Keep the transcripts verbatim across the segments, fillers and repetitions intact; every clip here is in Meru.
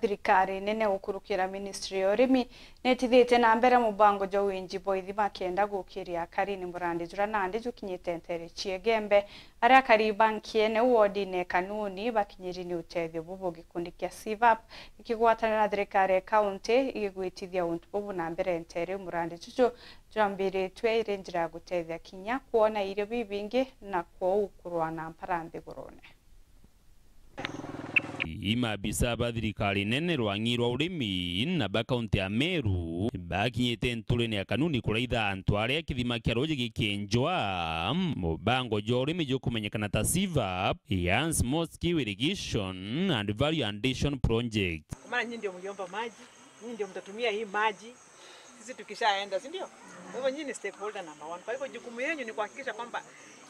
Thirikari nene gukurukira ministry ya urimi niitithitie na mbere mubango jwa winji bwa ithima kenda gukiria akari ni murandi juria nandi jukinyite nteere cia Igembe, aria akari ba Nkiene wodine Kanuni bakinyiri ni utethio bubu. Gikundi kia CVAP gikigwatana na thirikari ya kaunti igigwitithia untu bubu na mbere nteere iu murandi juju jwambiritue iri njira ya gutethia kinya kwona irio bibingi na kwou kurwa na mpara nthigurune. Imaabisa ba thirikari nene rwang'i rwa urimi na ba kaunti ya Meru bakinyite nturene ya Kanuni kuraitha antu aria kithima kia ruuji gikienjwa, mubango jwa urimi jukumenyekana ta CVAP, ya Small Scale Irrigation and Value Addition Project. Kwa maana nyinyi ndio mliomba maji, nyinyi ndio mtatumia hii maji. Sisi tukishaenda, si ndio? Kwa hivyo nyinyi ni stakeholder number one. Kwa hivyo jukumu yenyu ni kuhakikisha kwamba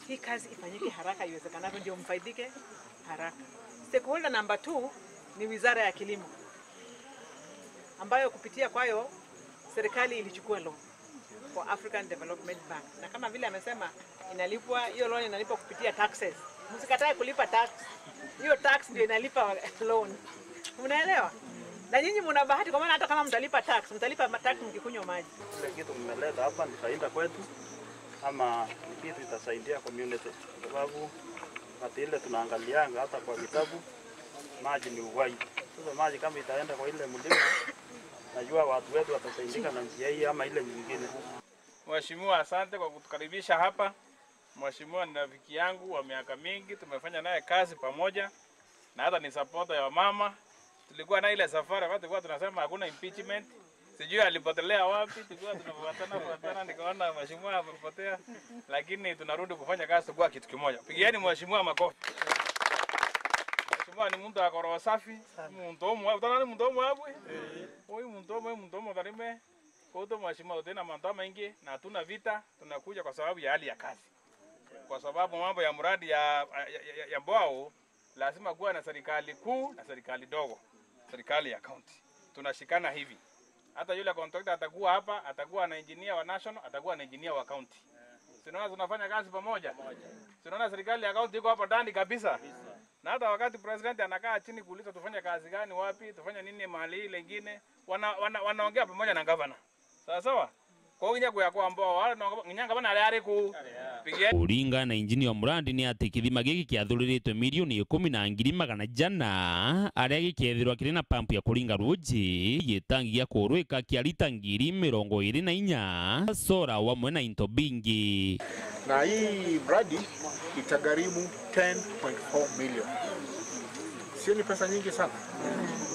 hii kazi ifanyike haraka iwezekanavyo, ndio mfaidike haraka. Stakeholder number two ni Wizara ya Kilimo, ambayo kupitia kwayo serikali ilichukua loan kwa African Development Bank. Na kama vile amesema, inalipwa, hiyo loan inalipwa kupitia taxes. Msikatae kulipa tax. Hiyo tax ndio inalipa loan. Unaelewa? Na nyinyi mna bahati, kwa maana hata kama mtalipa tax, mtalipa ma-, tax mkikunywa maji. Kile kitu mmeleta hapa ni faida kwetu, ama ni kitu itasaidia community? Kwa sababu wakati ile tunaangalianga hata kwa vitabu, maji ni uhai. Sasa maji kama itaenda kwa ile mlima, najua watu wetu watasaidika na njia hii ama ile nyingine. Mheshimiwa, asante kwa kutukaribisha hapa. Mheshimiwa ni rafiki yangu wa miaka mingi, tumefanya naye kazi pamoja, na hata ni supporter ya mama. Tulikuwa na ile safari wakati tulikuwa tunasema hakuna impeachment, sijui alipotelea wapi, tulikuwa tunafuatana fuatana, nikaona mheshimiwa amepotea, lakini tunarudi kufanya kazi tukiwa kitu kimoja. Pigieni mheshimiwa makofi. Mheshimiwa ni mtu ako roho safi, muntu umwe, utaona ni muntu umwe abwe? Huyu muntu umwe, muntu umwe tarime. Kwa hiyo mheshimiwa, tutina mantu maingi na hatuna vita, tunakuja kwa sababu ya hali ya kazi. Kwa sababu mambo ya mradi ya, ya, ya, ya, ya Mbwao, lazima kuwa na serikali kuu na serikali dogo, serikali ya county. Tunashikana hivi. Hata yule contractor atakuwa hapa, atakuwa na engineer wa national, atakuwa na engineer wa county. Si unaona tunafanya kazi pamoja? Si unaona serikali ya county iko hapa ndani kabisa? Na hata wakati president anakaa chini kuuliza tufanye kazi gani, wapi, tufanye nini mahali ile ingine, wana, wana, wanaongea pamoja na gavana. Sawa sawa? Kwa hiyo nginya kuya kwa Mbwao, wale no, nginya gavana aria ari ku. Pigia. Kuringana na engineer wa murandi ni ati kithima giki kiathuriritwe milioni ikumi na ngiri magana jana, aria gikethirwa kiri na pampu ya kuringa ruuji, gitangi gia kurwika kia lita ngiri mirongo iri na inya, sora wamwe na into bingi. Na hii mradi itagharimu ten point four million. Sio ni pesa nyingi sana?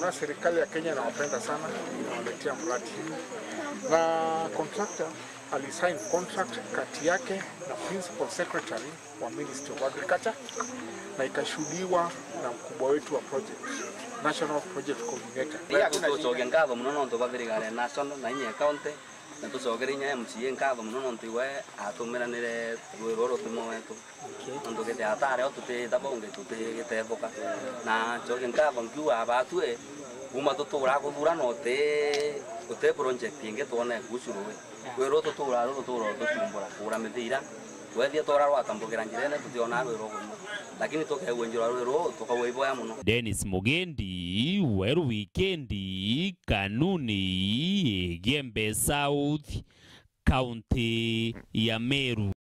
Na serikali ya Kenya inawapenda sana, inawaletea mradi. Na contractor alisign contract kati yake na principal secretary wa Ministry of Agriculture, na ikashuhudiwa na mkubwa wetu wa project, National Project Coordinator. Ria tucokia nkatho mono nontu bwa thirikari ya national na inya ya county, na tucokere inya M C A nkatho mono nontu iwe atumiranire rwiro rutumwa wetu. Okay. Nontu kethira atari o tutitha bonge tutigitethuka. Na ncokie nkatho nkiuga abatue kuma tutura kuthurana uti, uti project ingi twone kuhusu rui. Rui ruu tutura ru rutura rutucumbura kugura mithira. Wethia twara rwatambukira njirene tutionaa rui rukunyua. Lakini tukegua njira rui ruu tukagua iboya mono. Dennis Mugendi, Weru Wikendi, Kanuni, Igembe South, County ya Meru.